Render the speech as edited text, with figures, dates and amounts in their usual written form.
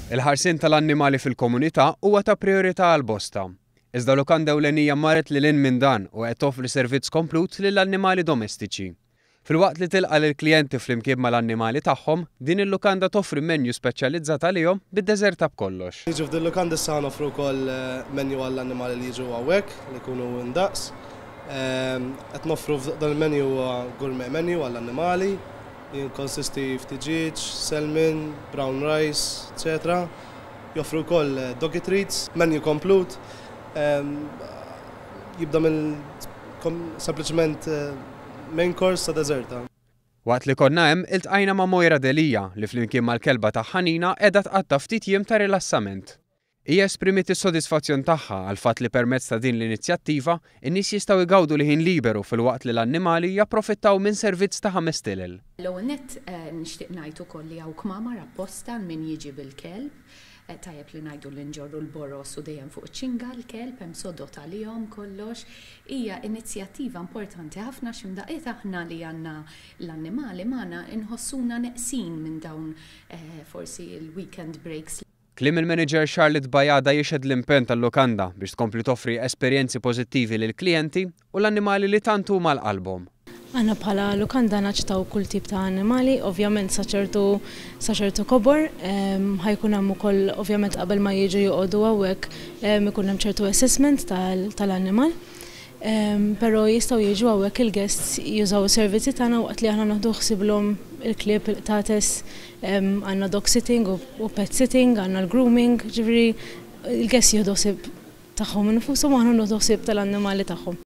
Il-ħarsien tal-annimali fil-komunità huwa ta' prijorità għal bosta. Iżda lukanda ewlenija marret lil hinn minn dan u qed toffri servizz komplut lill-annimali domestiċi. Filwaqt li tilqa' lill-klijenti flimkien mal-annimali tagħhom, din il-lukanda toffri menu speċjalizzat għalihom bid-deżerta b'kollox. Jiġu f'din lukanda issa noffru wkoll menu għall-annimali li jiġu hawnhekk li jkunu indaqs. Qed noffru dan il-menu huwa gourmet menu għall-annimali. Jikkonsisti f'tiġieġ, salmon, brown rice, etc. Joffru wkoll doggy treats, menu komplut. Jibda minn sempliċement main course sa deżerta. Waqt li konna hemm, iltqajna ma' Moira Delia li flimkien mal-kelba tagħha Nina qiegħda tqatta' ftit jiem ta' rilassament. Hija esprimiet is-sodisfazzjon tagħha għall-fatt li permezz ta' din l-inizjattiva, in-nies jistgħu jgawdu l-ħin liberu filwaqt li l-annimali japprofittaw minn servizz ta' ħames stilel. L-ewwel nett nixtieq ngħid ukoll li hawn kmamar apposta għal min jiġi bil-kelb. Tajjeb li ngħidu li nġorru l-boroż u dejjem fuq iċ-ċinga l-kelb, hemm sodod għalihom kollox. Hija inizjattiva importanti ħafna għax imdaqqiet aħna li għandna l-annimali magħna inħossuna neqsin minn dawn forsi l-weekend breaks. Kliem il-manager Charlotte Bajada jixhed l-impenn tal-lukanda biex tkompli toffri esperjenzi pożittivi lill-klijenti u l-annimali li tant huma għal qalbhom. Aħna bħala lukanda naċċettaw kull tip ta' annimali, ovvjament sa ċertu sa ċertu kobor, ħa jkun hemm ukoll ovvjament qabel ma jiġu joqogħdu hawnhekk ikun hemm ċertu assessment tal-annimal. Però jistgħu jiġu hawnhekk il-guests jużaw is-servizzi tagħna waqt li aħna nieħdu ħsieblhom il-klieb, il-qtates, għandna dog sitting u pet sitting, għandna l-grooming, ġifieri il-guests jieħdu ħsieb tagħhom infushom u aħna nieħdu ħsieb tal-annimali tagħhom.